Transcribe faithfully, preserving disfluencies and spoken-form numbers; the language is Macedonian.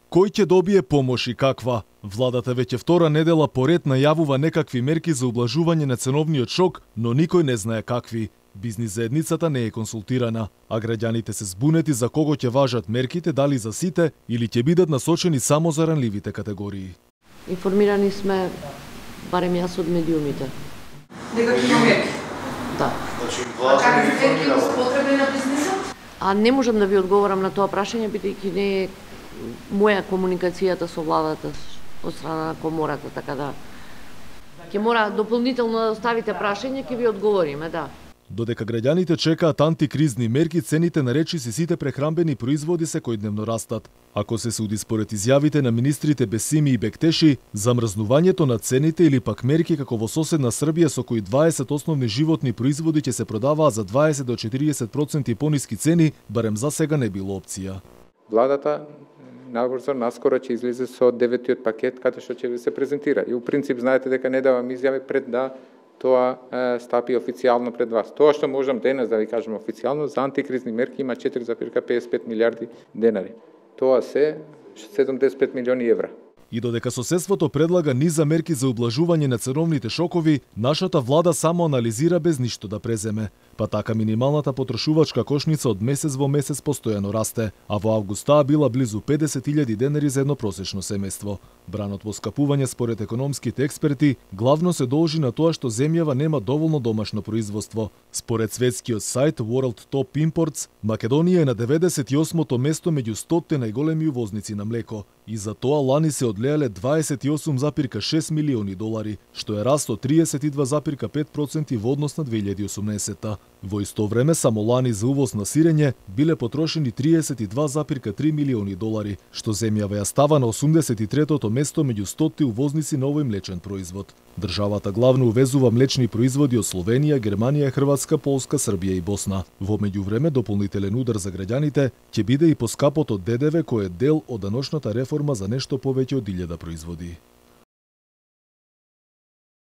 Кој ќе добие помош и каква? Владата веќе втора недела поред најавува некакви мерки за ублажување на ценовниот шок, но никој не знае какви. Бизнис заедницата не е консултирана, а граѓаните се збунети за кого ќе важат мерките, дали за сите или ќе бидат насочени само за ранливите категории. Информирани сме, барем јас од медиумите. Некакви мерки? Да. Значи, власта не информира потребни на бизнисот? А не можам да ви одговорам на тоа прашање, бидејќи не е моја комуникацијата со владата од страна на комората, така да ќе мора дополнително да оставите прашање, ќе ви одговориме, да. Додека граѓаните чекаат антикризни мерки, цените на речиси сите прехрамбени производи секојдневно растат. Ако се суди според изјавите на министрите Бесими и Бектеши, замрзнувањето на цените или пак мерки како во соседна Србија со кои дваесет основни животни производи ќе се продаваат за дваесет до четириесет проценти пониски цени, барем за сега не било опција. Владата набрзо наскоро ќе излезе со деветиот пакет каде што ќе ви се презентира. И у принцип знаете дека не давам изјави пред да тоа е, стапи официјално пред вас. Тоа што можам денес да ви кажем официјално за антикризни мерки има четири зарез педесет и пет милиарди денари. Тоа се седумдесет и пет милиони евра. И додека соседството предлага низа мерки за ублажување на ценовните шокови, нашата влада само анализира без ништо да преземе. Па така минималната потрошувачка кошница од месец во месец постојано расте, а во август таа била близу педесет илјади денари за едно просечно семејство. Бранот во скапување според економските експерти главно се должи на тоа што земјава нема доволно домашно производство. Според светскиот сајт World Top Imports, Македонија е на деветдесет и осмото место меѓу стотте најголеми увозници на млеко и за тоа лани се одлеале дваесет и осум зарез шест милиони долари, што е раст од триесет и два зарез пет проценти во однос на две илјади и осумнаесетта. Во исто време, само лани за увоз на сирење биле потрошени триесет и два зарез три милиони долари, што земјава ја става на осумдесет и третото место меѓу стотте увозници на овој млечен производ. Државата главно увезува млечни производи од Словенија, Германија, Хрватска, Полска, Србија и Босна. Во меѓувреме, дополнителен удар за граѓаните ќе биде и поскапото ДДВ кој е дел од даночната реформа за нешто повеќе од илјада производи.